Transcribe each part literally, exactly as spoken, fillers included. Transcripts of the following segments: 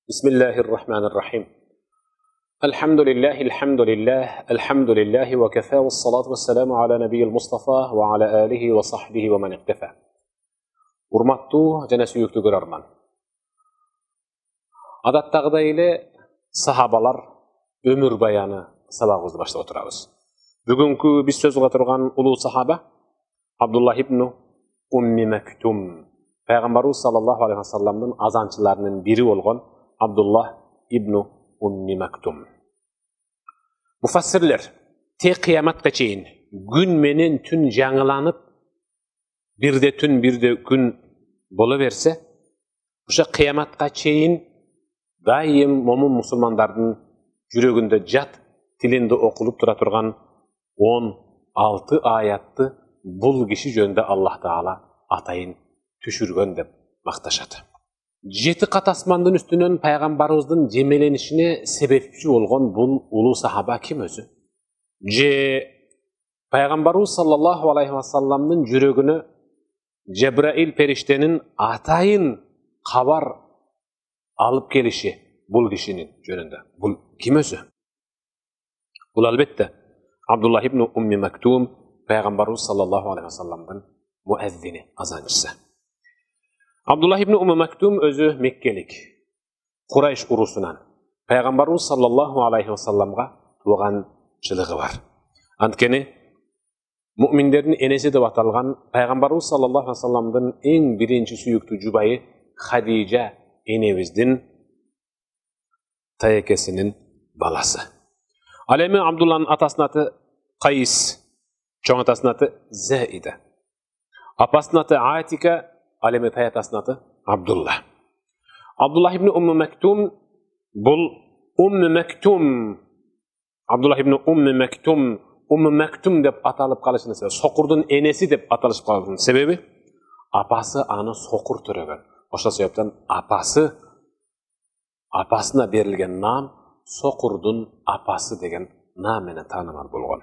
بسم الله الرحمن الرحيم الحمد لله الحمد لله الحمد لله وكفى والصلاة والسلام على نبي المصطفى وعلى آله وصحبه ومن اقتفى. Урматтуу жана сүйүктүү көрөрман. Адаттагыдай эле сахабалар өмүр баяны сабагыбызды баштап отурабыз. Бүгүнкү биз сөз кыла турган улуу сахаба Абдуллах ибн Умми Мактум, Пайгамбарыбыз саллаллаху алейхи ва салламдын азанчыларынын бири болгон Абдуллах ибн Умми Мактум. Муфассирлер тек кыяматка чейин күн менен түн жаңыланып, бирде түн бирде күн боло берсе, ошо кыяматка чейин дайым момун мусулмандардын жүрөгүндө жат тилинде окулуп тура турган он алты аятты бул киши жөнүндө Аллах Таала атайын түшүргөн деп макташат. Жети кат асмандын үстүнөн пайгамбарыбыздын жемеленишине себепчи болгон бул улуу сахаба ким өзү? Же пайгамбарыбыз саллаллаху алейхи ва салламдын жүрөгүнө Жебраил периштенин атайын кабар алып келиши бул кишинин жөнүндө. Бул ким өзү? Бул албетте Абдуллах ибн Умми Мактум, пайгамбарыбыз саллаллаху алейхи ва салламдын муаззини, азанчысы. Абдуллах ибн Умми Мактум өзү меккелик, Курайш урусунан, пайгамбарыбыз саллаллаху алейхи ва салламга тууганчылыгы бар. Анткени муъминдердин энеси деп аталган пайгамбарыбыз саллаллаху алейхи ва салламдын эң биринчи сүйүктүү жубайы Хадижа энебиздин таекесинин баласы. Ал эми Абдулланын атасынын аты Кайс, чоң атасынын аты Заида, апасынын аты Атика, ал эми таятасынын аты Абдулла. Абдуллах ибн Умми Мактум бул Умми Мактум, Абдуллах ибн Умми Мактум, Умми Мактум деп аталып калышынын себеби, сокурдун энеси деп аталышып калышынын себеби, апасы аны сокур төрөгөн. Ошол себептен апасы, апасына берилген наам сокурдун апасы деген наам менен таанымал болгон.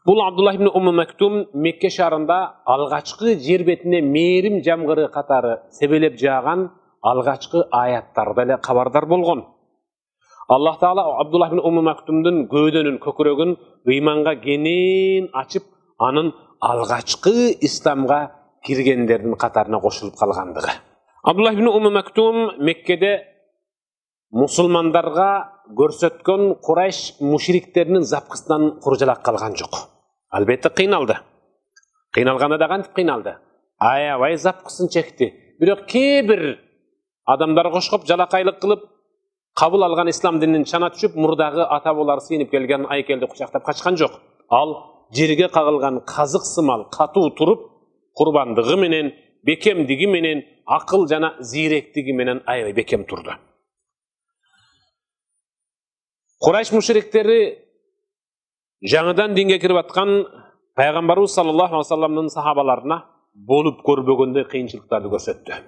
Бул Абдуллах ибн Умми Мактум Мекке шаарында алгачкы жер бетине мээрим жамгыры катары себелеп жааган алгачкы аяттарда эле кабардар болгон. Аллах Таала Абдуллах ибн Умми Мактумдун көөдөнүн көкүрөгүн ыйманга кенен ачып, анын алгачкы исламга киргендердин катарына кошулуп калгандыгы. Абдуллах ибн Умми Мактум Меккеде мусулмандарга көрсөткөн Курайш мушриктеринин запкысынан куржалак калган жок. Албетте кыйналды. Кыйналганда да кантип кыйналды? Аябай запкысын чекти. Бирок кээ бир адамдар кошкоп жалакайлык кылып, кабыл алган ислам динин чана түшүп, мурдагы ата бабалары сыйынып келген айкелди кучактап качкан жок. Ал жерге кагылган казык сымал катуу туруп, курбандыгы менен, бекемдиги менен, акыл жана зиректиги менен аябай бекем турду. Курайш мушриктери жаңыдан динге кирип аткан пайгамбарыбыз саллаллаху алейхи ва салламдын сахабаларына болуп көрбөгөндөй кыйынчылыктарды көрсөттү.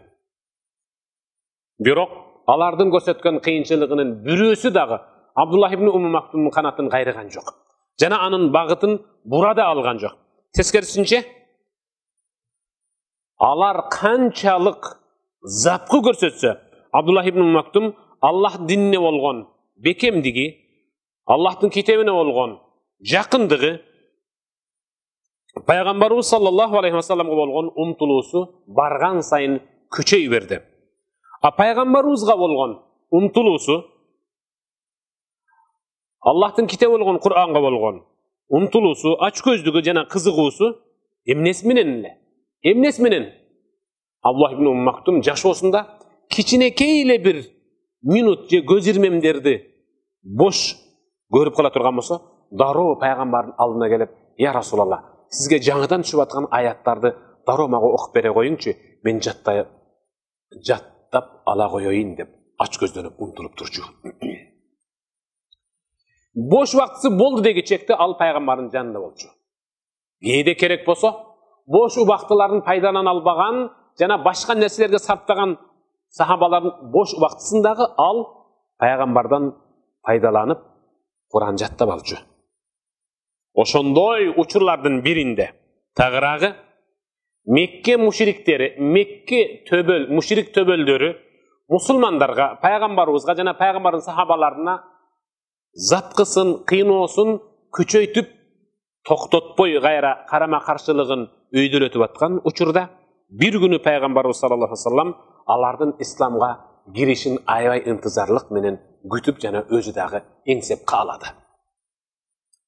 Бирок алардын көрсөткөн кыйынчылыгынын бирөөсү дагы Абдуллах ибн Умми Мактумдун канатын кайрыган жок. Жана анын багытын бура да алган жок. Тескерисинче, алар канчалык запкы көрсөтсө, Абдуллах ибн Умми Мактум Аллах динине болгон бекемдиги, Аллахтын китебине болгон жакындыгы, пайгамбарыбыз саллаллаху алейхи ва салламга болгон умтулуусу барган сайын күчөй берди. А пайгамбарыбызга болгон умтулуусу, Аллахтын китеби болгон Кур'анга болгон умтулуусу, ач көздүгү жана кызыгуусу эмнеси менен эле? Эмнеси менен? Абдуллах ибн Умми Мактум жашоосунда кичинекей эле бир минут же көз ирмемдерди бош көрүп кала турган болсо, дароо пайгамбардын алдына келип, "Я Расулалла, сизге жаңыдан түшүп аткан аяттарды дароо мага окуп бере коюңчу, мен жаттай жаттап ала коеюн" деп ач көздөнүп умтулуп турчу. Бош убактысы болду деги чекте ал пайгамбардын жанында болчу. Кээде керек болсо, бош убактыларын пайдалана албаган жана башка нерселерге сарптаган сахабалардын бош убактысындагы ал пайгамбардан пайдаланып Кур'ан жаттап алчу. Ошондой учурлардын биринде тагыраагы Мекке мушриктери, Мекке төбөл, мушрик төбөлдөрү мусулмандарга, пайгамбарыбызга жана пайгамбардын сахабаларына запкысын, кыйноосун күчөйтүп токтотпой кайра карама каршылыгын өйдөлөтүп аткан учурда бир күнү пайгамбарыбыз саллаллаху алейхи вассалам алардын исламга киришин аябай интизарлык менен күтүп жана өзү дагы эңсеп каалады.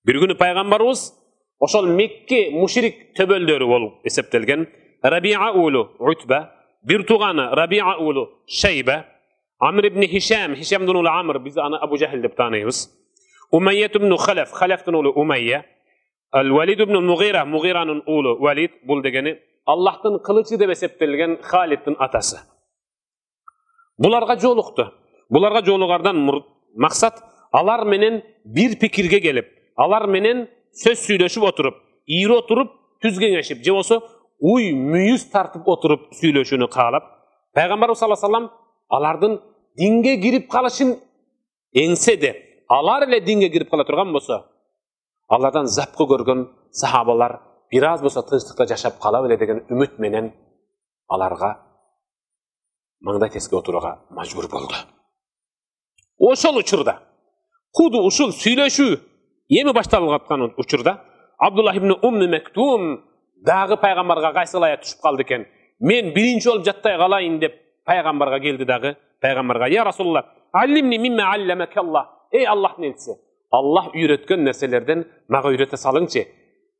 Бир күнү пайгамбарыбыз ошол Мекке мушрик төбөлдөрү болуп эсептелген Рабиа улу Утба, бир тууганы Рабиа улу Шайба, Амр ибн Хишам, Хишамдын улу Амр, биз аны Абу Жахил деп тааныйбыз. Умайя ибн Халаф, Халафтын улу Умайя, Ал-Валид ибн Мугира, Мугиранын улу Валид, бул дегени Аллахтын кылычы деп эсептелген Халиддин атасы. Буларга жолукту. Буларга жолугардан максат алар менен бир пикирге келип, алар менен сөз сүйлөшүп отуруп, ийри отуруп, түз кеңешип, же болсо уй мүйүз тартып отуруп сүйлөшүүнү каалап, пайгамбарыбыз саллаллаху алейхи вассалам алардын динге кирип калышын эңседе, алар эле динге кирип кала турган болсо, алардан запкы көргөн сахабалар бир аз болсо тынчтыкта жашап кала беле деген үмүт менен аларга маңдай теске отурууга мажбур болду. Ошол учурда, куду ушул сүйлөшүү эми башталып аткан учурда Абдуллах ибн Умми Мектум дагы пайгамбарга кайсылая түшүп калды экен. Мен биринчи болуп жаттай калайын деп пайгамбарга келди дагы. Пайгамбарга: "Я Расулуллах, аллимни мимма алламакаллах." Эй Аллахтын элчиси, Аллах үйрөткөн нерселерден мага үйрөтө салыңчы.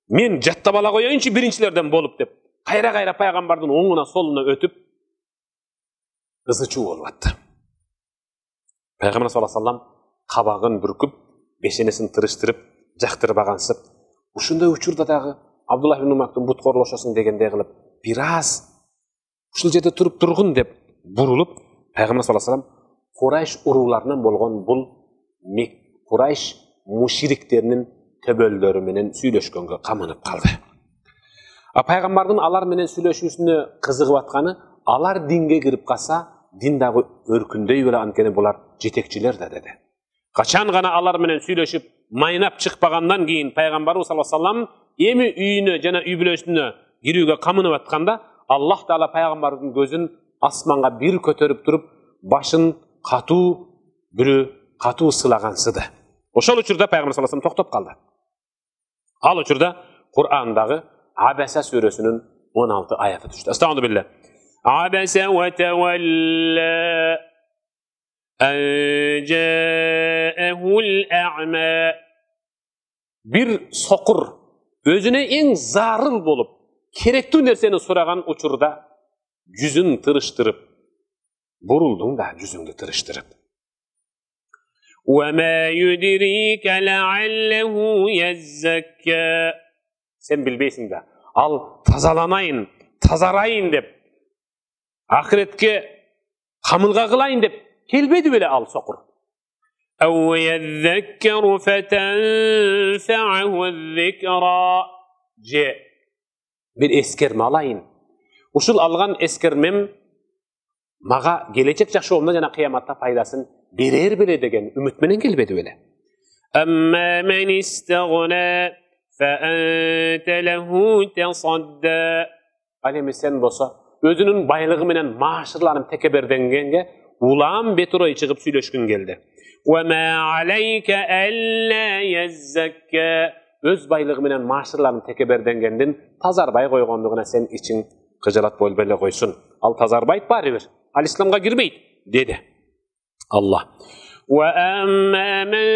Мен жаттап ала коеюнчу биринчилерден болуп деп. Кайра-кайра пайгамбардын оңуна солуна өтүп ызычуу болуп атты. Пайгамбар саллаллаху алейхи вассалам кабагын бүркүп, бешенесин тырыштырып, жактырбагансып, ушундай учурда дагы Абдуллах ибн Мактум бут корлошосун дегендей кылып, бир аз ушул жерде туруп тургун деп бурулуп, Пайгамбар саллаллаху алейхи вассалам Курайш урууларынан болгон бул Курайш мушриктеринин төбөлдөрү менен сүйлөшкөнгө камынып калды. А пайгамбардын алар менен сүйлөшүүсүнө кызыгып атканы, алар динге кирип калса, дин дагы өркүндөй беле, анткени булар жетекчилер да деди. Качан гана алар менен сүйлөшүп, майнап чыкпагандан кийин пайгамбарыбыз саллаллаху алейхи вассалам эми үйүнө жана үй бүлөсүнө кирүүгө камынып атканда, Аллах таала пайгамбардын көзүн асманга бир көтөрүп туруп, башын катуу бирөө катуу сылагансыды. Ошол учурда пайгамбар саллаллаху алейхи вассалам токтоп калды. Ал учурда Кур'андагы Абаса сүрөсүнүн он алты аяты түштү. Астагфирулла билlah. Абаса ва тавалла ан жаахул а'ма. Бир сокур өзүнө эң зарыл болуп, керектүү нерсени сураган учурда жүзүн тырыштырып, бурулдуң да жүзүңдү тырыштырып. وَمَا يُدْرِيكَ لَعَلَّهُ يَزَّكَّى. Sen bilbeysin de, al тазаланайын, тазарайын деп, ахиретке камылга кылайын деп келбеди беле ал сокур. أَوْ يَذَّكَّرُ فَتَنْفَعَهُ الذِّكْرَى. Же bir эскерме алайын. Ушул алган эскермем мага келечек жашоомда жана кыяматта пайдасын берер беле деген үмүт менен келбеди беле. Амма мен истагна фа анта лаху тасадда. Ал эми сен болсо өзүнүн байлыгы менен маашырланып текеберденгенге улам бетурой чыгып сүйлөшкүн келди. Ва ма алейка алла яззакка. Өз байлыгы менен маашырланып текеберденгендин тазарбай койгондугуна сен ичиң кыжалат болбой эле койсун. Ал тазарбайт баары бир. Ал исламга кирбейт деди Allah. وَأَمَّا مَنْ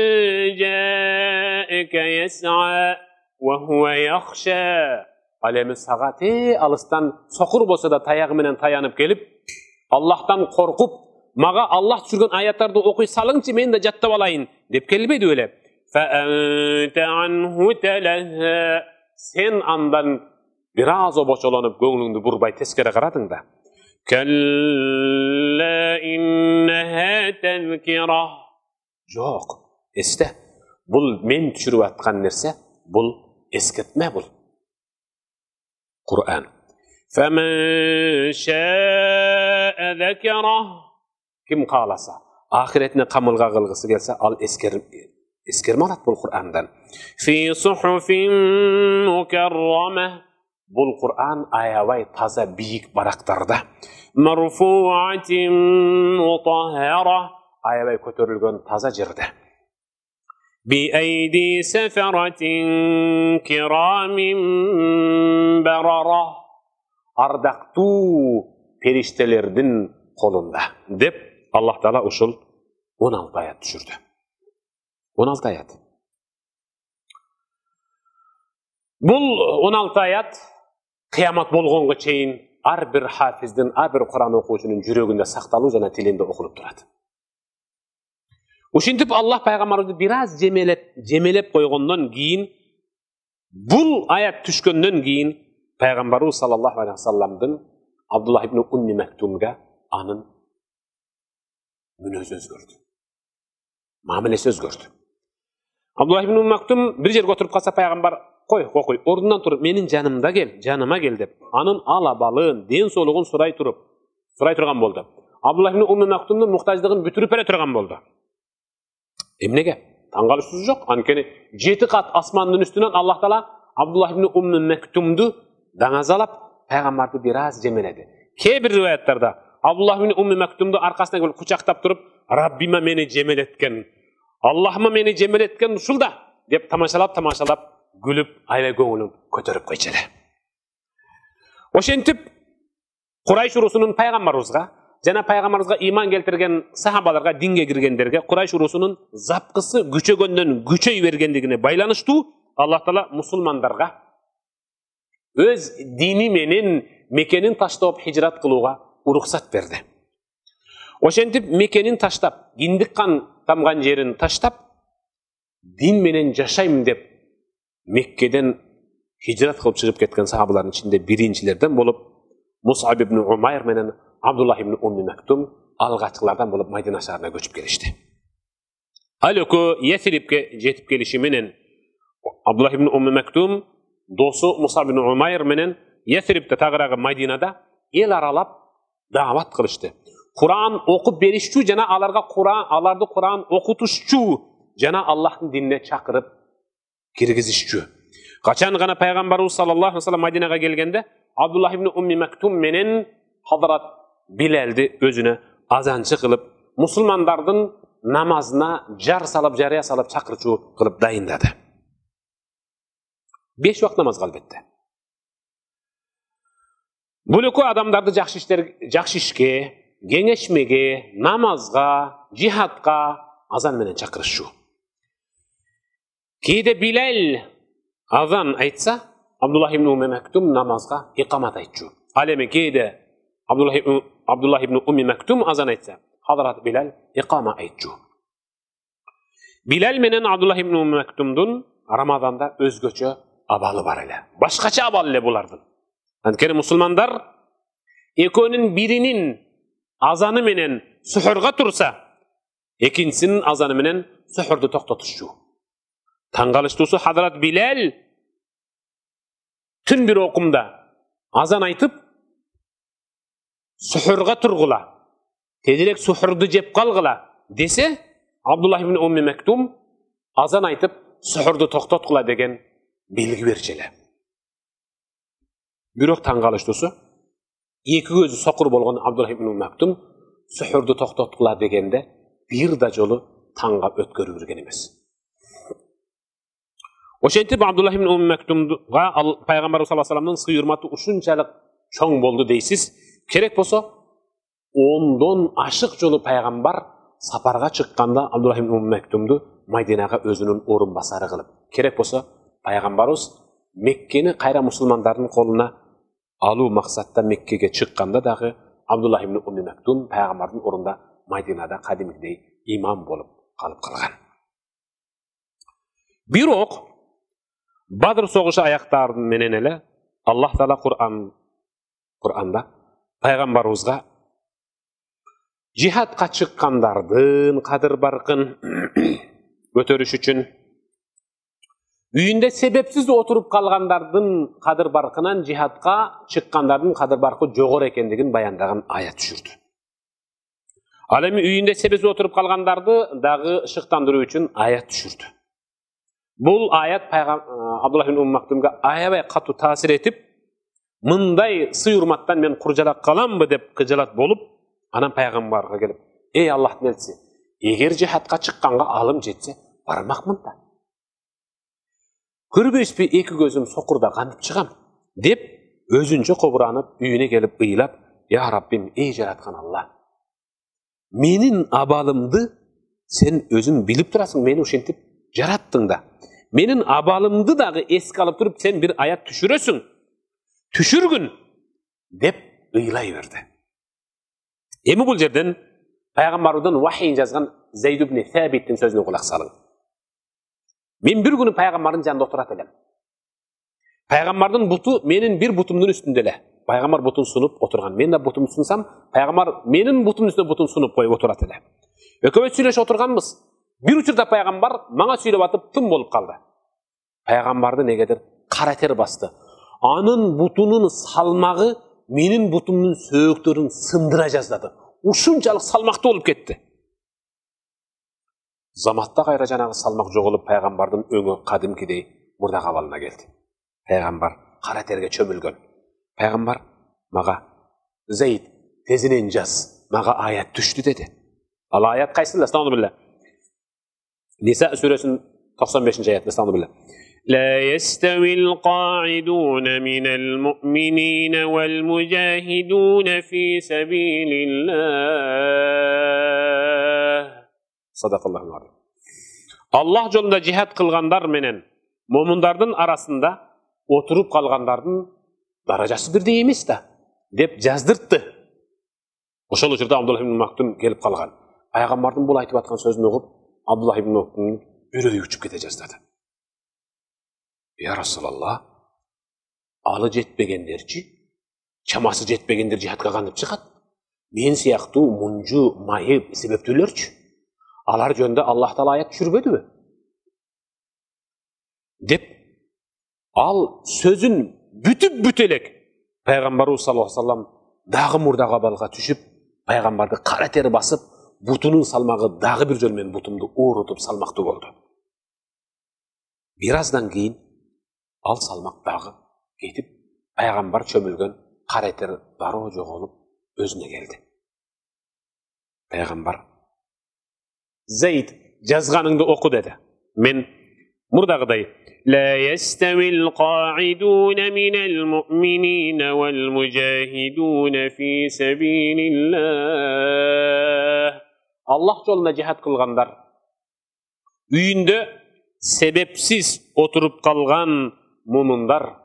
جَاءَكَ يَسْعَى وَهُوَ يَخْشَى. Alemi sağa te alıstan sokur bolsa da tayagı menen tayanıp gelip, Allah'tan korkup, maga Allah düşürgön ayatlarda okuy salınçı men de jattap alayın dep kelbedi öyle. فَأَنْتَ عَنْهُ تَلَهَّى. Sen andan biraz o boçolanıp göğlüңdü burbay teskere karadın da. Kalla innaha tezkira. Yok, este. Bul men düşürüp atkan nerse, bul esketme bul. Kur'an. Femen şâ'e zekera. Kim kalasa, ahiretine kamılga kılgısı gelse, al esker, eskerme alat bul Kur'an'dan. Fi suhufin mukarrama. Бул Кур'ан аябай таза бийик барактарда. Марфуатин мутаххара, аябай көтөрүлгөн таза жерде. Би айди сафаратин кирамин барара, ардактуу периштелердин колунда деп Аллах Таала ушул он алты аят түшүрдү. он алты аят. Бул он алты аят кыямат болгонго чейин ар бир хафиздин, ар бир Кур'ан окуучунун жүрөгүндө сакталуу жана тилинде окулуп турат. Ушинтип Аллах пайгамбарыбызды бир аз жемелеп, жемелеп койгондон кийин, бул аят түшкөндөн кийин пайгамбарыбыз саллаллаху алейхи вассаламдын Абдуллах ибн Умми Мактумга анын мүнөзү өзгөрдү. Мамилеси өзгөрдү. Абдуллах ибн Умми Мактум бир жерге отуруп калса пайгамбар кой, кой, ордунан туруп, менин жанымда кел, жаныма кел деп, анын алабалын, ден соолугун сурай туруп, сурай турган болду. Абдуллах ибн Умми Мактумдун муктаждыгын бүтүрүп бере турган болду. Эмнеге? Таң калышсыз жок. Анткени жети кат асмандын үстүнөн Аллах Таала Абдуллах ибн Умми Мактумду даңазалап, пайгамбарды бир аз жемеледи. Кээ бир риwаяттарда Абдуллах ибн Умми Мактумду аркасынан келип кучактап туруп, Раббима мени жемелеткен, Аллахыма мени жемелеткен ушул да деп тамашалап, тамашалап, гүлүп, аябай көңүлүн көтөрүп койчу эле. Ошентип Курайш урусунун пайгамбарыбызга жана пайгамбарыбызга иман келтирген сахабаларга, динге киргендерге Курайш урусунун запкысы күчөгөндөн күчөй бергендигине байланыштуу Аллах Таала мусулмандарга өз дини менен Мекенин таштап хижрат кылууга уруксат берди. Ошентип Мекенин таштап, киндик кан тамган жерин таштап, дин менен жашайм деп Меккеден хижрат кылып чыгып кеткен сахабалардын ичинде биринчилерден болуп Мус'аб ибн Умайр менен Абдуллах ибн Умми Мактум алгачкылардан болуп Мадина шаарына көчүп келишти. Ал экөө Ясрибке жетип келиши менен Абдуллах ибн Умми Мактум досу Мус'аб ибн Умайр менен Ясрибте тагыраагы Мадинада эл аралап даават кылышты. Кур'ан окуп беришчү жана аларга Кур'ан, аларды Кур'ан окутушчу жана Аллахтын динине чакырып киргизишчү. Качан гана пайгамбарыбыз саллаллаху алейхи вассалам Мадинага келгенде Абдуллах ибн Умми Мактум менен Хадрат Билалди өзүнө азанчы кылып, мусулмандардын намазына жар салып, жарыя салып, чакырчу кылып дайындады. Беш вакыт намазга албетте. Бул экөө адамдарды жакшы иштер, жакшы ишке, кеңешмеге, намазга, жихадка азан менен чакырышчу. Кээде Билал азан айтса, Абдуллах ибн Умми Мактум намазга икамат айтчу. Ал эми кээде Абдуллах ибн Умми Мактум азан айтса, Хадрат Билал икама айтчу. Билал менен Абдуллах ибн Умми Мактумдун Рамазанда өзгөчө абалы бар эле. Башкача абал эле булардын. Анткени мусулмандар экөөнүн биринин азаны менен сухурга турса, экинчисинин азаны менен сухурду токтотушчу. Таң калыштуусу Хадрат Билал түн бир окумда азан айтып, сухурга тургула, тезирээк сухурду жеп калгыла десе, Абдуллах ибн Умми Мактум азан айтып, сухурду токтоткула деген белги берчү эле. Бирок таң калыштуусу, эки көзү сокур болгон Абдуллах ибн Умми Мактум сухурду токтоткула дегенде бир да жолу таңга өткөрүп жүргөн эмес. Ошентип Абдуллах ибн Умми Мактумга пайгамбарыбыз саллаллаху алейхи вассаламдын сый урматы ушунчалык чоң болду дейсиз. Керек болсо, ондон ашык жолу пайгамбар сапарга чыкканда Абдуллах ибн Умми Мактумду Мадинага өзүнүн орун басары кылып, керек болсо, пайгамбарыбыз Меккени кайра мусулмандардын колуна алуу максатта Меккеге чыкканда дагы Абдуллах ибн Умми Мактум пайгамбардын орунда Мадинада кадимгидей имам болуп калып калган. Бирок Бадыр согушу аяктарын менен эле Аллах Таала Кур'ан Кур'анда пайгамбарыбызга жихадка чыккандардын кадыр баркын көтөрүш үчүн, үйүндө себепсиз отуруп калгандардын кадыр баркынан жихадка чыккандардын кадыр баркы жогору экендигин баяндаган аят түшүрдү. Ал эми үйүндө себепсиз отуруп калгандарды дагы шыктандыруу үчүн аят түшүрдү. Бул аят Абдуллах ибн Умми Мактумга аябай катуу таасир этип, мындай сый урматтан мен куржалак каламбы деп кыжалат болуп, анан пайгамбарга келип, ey Аллахтын элчиси, эгер жихадка чыкканга алым жетсе, бармакмын да. Көрбөйсүзбү эки көзүм сокурда кантип чыгам деп өзүнчө кобуранып, үйүнө келип ыйлап, я Раббим, ey жараткан Алла, менин абалымды сен өзүң билип турасың, мени ушинтип жараттың да. Менин абалымды дагы эске алып туруп, сен бир аят түшүрөсүң. Түшүргүн деп ыйлай берди. Эми бул жерден пайгамбардан вахийин жазган Зейд ибн Сабиттин сөзүнө кулак салың. Мен бир күнү пайгамбардын жанында отурат элем. Пайгамбардын буту менин бир бутумдун үстүндө эле. Пайгамбар бутун сунуп отурган. Мен да бутумду сунсам, пайгамбар менин бутумдун үстүнө бутун сунуп коюп отурат эле. Экөөбүз сүйлөшүп отурганбыз. Bir uçurda Peygamber bana söylep atıp tım bolup kaldı. Peygamberdi negеdir kara ter bastı. Anın butunun salmağı menin butumdun söğüktörün sındıra жаздады. Ушунчалык салмактуу болуп кетти. Заматта кайра жанагы салмак жогулуп Peygamberдин өңү кадимкидей мурда кабалына келди. Peygamber кара терге чөмүлгөн. Peygamber мага Зейд тезинен жаз, мага аят түштү деди. Ал аят кайсында? Estağfurullah. Nisa suresinin doksan beşinci ayetinde Estağfurullah. لا يستوي القاعدون من المؤمنين والمجاهدون في سبيل الله. Sadakallahul azim. Allah yolunda cihat kılganlar menen momundardın arasında oturup kalgandardın darajası birдей эмес да деп жаздыртты. Ошол учурда Абдулlah ibn Maktum келип калган. Пайгамбардын бул айтып аткан сөзүн угуп Abdullah ibn Maktum'un үрөйү учуп кете жаздады. Ya Resulallah, алы жетпегендерчи, чамасы жетпегендер жихадка кантип чыгат? Мен сыяктуу мунжу, майып, себептүүлөрчү. Алар жөнүндө Аллах Таала аят түшүрбөдүбү? Деп ал сөзүн бүтүп бүт элек Пайгамбарыбыз саллаллаху алейхи ва саллям дагы мурда кабалга түшүп, Пайгамбарды кара тер басып, бутунун салмагы дагы бир жол менен бутумду оорутуп салмактуу болду. Бир аздан кийин ал салмак дагы кетип, Пайгамбар чөмүлгөн кара тер дароо жоголуп өзүнө келди. Пайгамбар Зейд жазганыңды оку деди. Мен мурдагыдай لا يستوي القاعدون من المؤمنين والمجاهدون في سبيل الله. Allah жолунда жихад кылгандар, үйүндө себепсиз отуруп калган мумундар,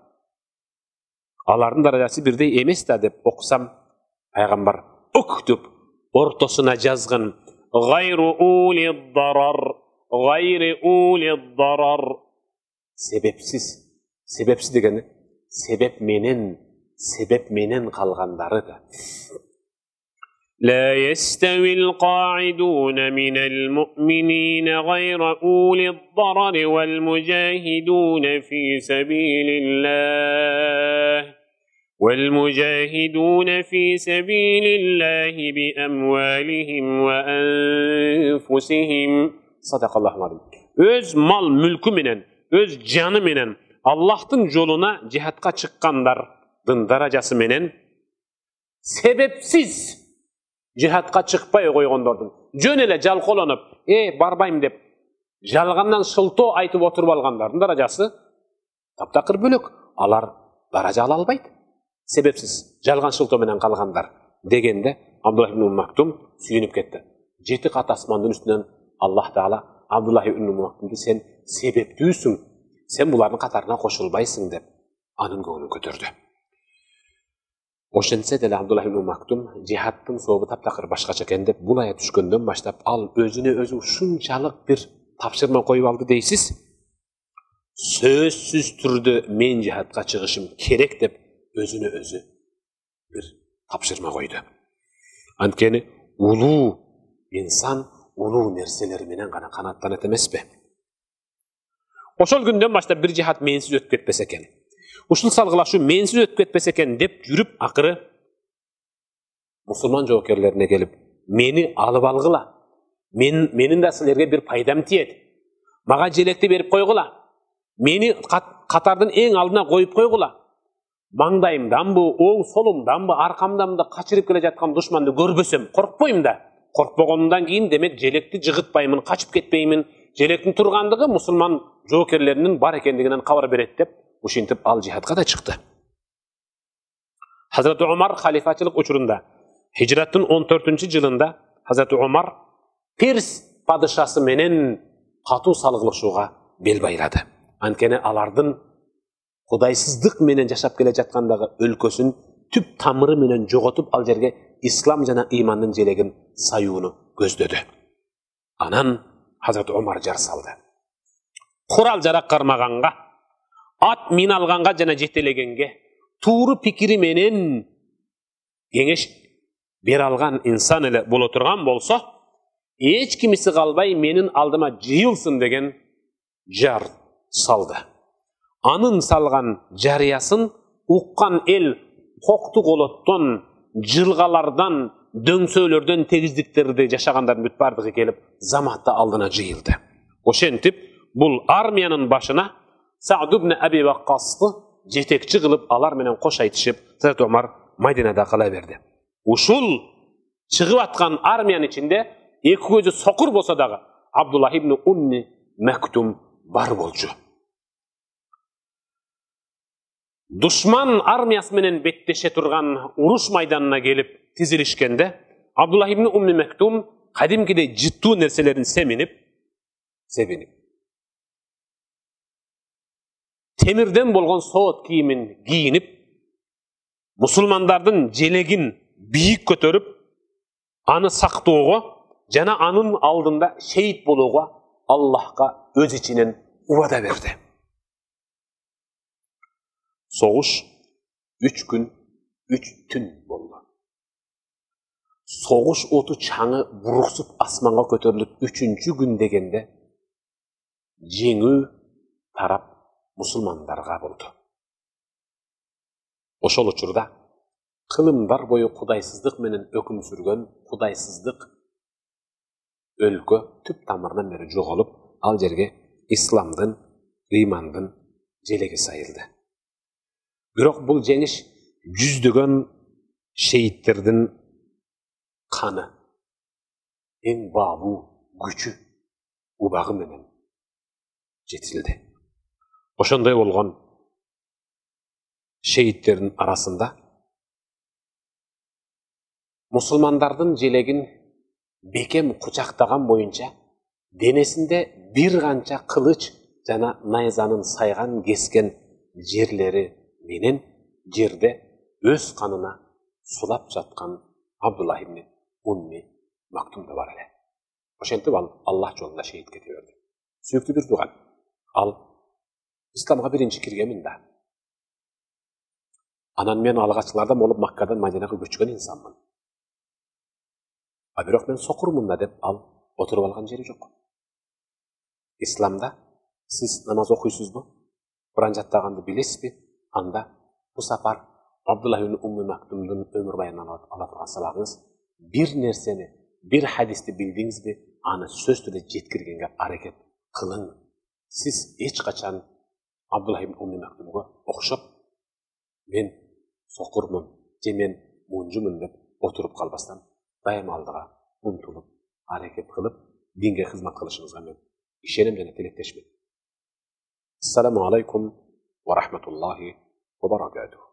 алардын даражасы бирдей эмес да деп окусам, Пайгамбар уктуп ортосуна жазган гайру улид дарар, гайри улид дарар, себепсиз, себепсиз дегени себеп менен, себеп менен калгандары да. لا يستوي القاعدون من المؤمنين غير أولي الضرر والمجاهدون في سبيل الله والمجاهدون في سبيل الله بأموالهم وأنفسهم. Sadaqallahu azim. Öz mal mülkü menen, öz canı menen Allah'tın yoluna cihatka çıkkandardın darajası menen sebepsiz cihatka çıkpay koygondordun. Jön ele jalkolonуп, "E barbayım" dep jalgandan şıltoo aytıp oturup algandardın darajасы таптакыр бөлөк. Алар даража ала албайт. Себепсиз жалган шылтоо менен калгандар дегенде Абдулlah ibn Maktum сүйүнүп кетти. Жети кат асмандын үстүнөн Аллах Таала Abdullah ibn Maktumду сен себептүүсүң, сен булардын катарына кошулбайсың деп анын көңүлүн көтөрдү. Ошентсе деле Abdullah ibn Maktum жихадтын сообу таптакыр башкача экен деп бул аят түшкөндөн баштап ал өзүнө өзү ушунчалык бир тапшырма коюп алды дейсиз. Сөзсүз түрдө мен жихадка чыгышым керек деп өзүнө өзү бир тапшырма койду. Анткени улуу инсан улуу нерселер менен гана канаттанат эмеспи? Ошол күндөн баштап бир жихад менсиз өтүп кетпесе экен. Ушул салгылашуу менсиз өтүп кетпесе экен деп жүрүп акыры мусулман жоокерлерине келип, мени алып алгыла. Мен менин да силерге бир пайдам тиет. Мага желекти берип койгула. Мени катардын эң алдына коюп койгула. маңдайымданбы, оң солумданбы, аркамданбы качырып келе жаткан душманды көрбөсөм, коркпойм да. Коркпогондон кийин демек желекти жыгытпаймын, качып кетпеймин. Желектин тургандыгы мусулман жоокерлеринин бар экендигинен кабар берет деп, ушинтип ал жихадка да чыкты. Hazreti Umar халифачылык учурунда Hicrattын он төртүнчү жылында Hazreti Umar Перс падышасы менен катуу салгылышууга бел байлады. Анткени алардын кудайсыздык менен жашап келе жаткандагы өлкөсүн түп тамыры менен жоготуп ал жерге ислам жана ыймандын желегин саюуну көздөдү. Анан Hazreti Umar жар салды. Курал жарак кармаганга, ат мин алганга жана жетелегенге тууру пикири менен кеңеш бере алган инсан эле боло турган болсо, эч кимиси калбай менин алдыма жыйылсын деген жар салды. Анын салган жарыясын уккан эл кокту колоттон, жылгалардан, дөңсөөлөрдөн тегиздиктерди жашагандардын бүт бардыгы келип заматта алдына жыйылды. Ошентип бул армиянын башына Саад ибн Аби Ваккасты жетекчи кылып алар менен кош айтышып, Hazreti Umar Мадинада кала берди. Ушул чыгып аткан армиянын ичинде эки көзү сокур болсо дагы Абдуллах ибн Умми Мактум бар болчу. Душман армиясы менен беттеше турган уруш майданына келип тизилишкенде Абдуллах ибн Умми Мактум кадимкидей жыттуу нерселерин семинип, себинип темирден болгон соот кийимин кийинип, мусулмандардын желегин бийик көтөрүп, аны сактоого жана анын алдында шейит болууга Аллахка өз ичинен убада берди. Согуш үч күн, үч түн болду. Согуш оту чаңы буруксуп асманга көтөрүлүп үчүнчү күн дегенде жеңүү тарап мусулмандарга болду. Ошол учурда кылымдар бою кудайсыздык менен өкүм сүргөн кудайсыздык өлкө түп тамырынан бери жоголуп, ал жерге исламдын, ыймандын желеги сайылды. Бирок бул жеңиш жүздөгөн шейиттердин каны, эң баалуу күчү, убагы менен жетилди. Ошондой болгон шейиттердин арасында мусулмандардын желегин бекем кучактаган боюнча денесинде бир канча кылыч жана найзанын сайган кескен жерлери менен жерде өз канына сулап жаткан Абдуллах ибн Умми Мактум да бар эле. Ошентип ал Аллах жолунда шейит кете берди. Сүйүктүү бир тууган, ал исламга биринчи киргенмин да. Анан мен алгачкылардан болуп Маккадан Мадинага көчкөн инсанмын. А бирок мен сокурмун да деп ал отуруп алган жери жок. Исламда сиз намаз окуйсузбу? Куран жаттаганды билесизби? Анда бу сапар Абдуллах ибн Умми Мактумдун өмүр баянынан ала турган сабагыңыз бир нерсени, бир хадисти билдиңизби, аны сөз түрдө жеткиргенге аракет кылың. Сиз эч качан Абдуллах ибн Умми Мактумга окшоп мен сокурмун, же мен мунжумун деп отуруп калбастан дайыма алдыга умтулуп, аракет кылып, динге кызмат кылышыңызга мен ишенем жана тилектешмин. Ассаламу алейкум ва рахматуллахи ва баракатух.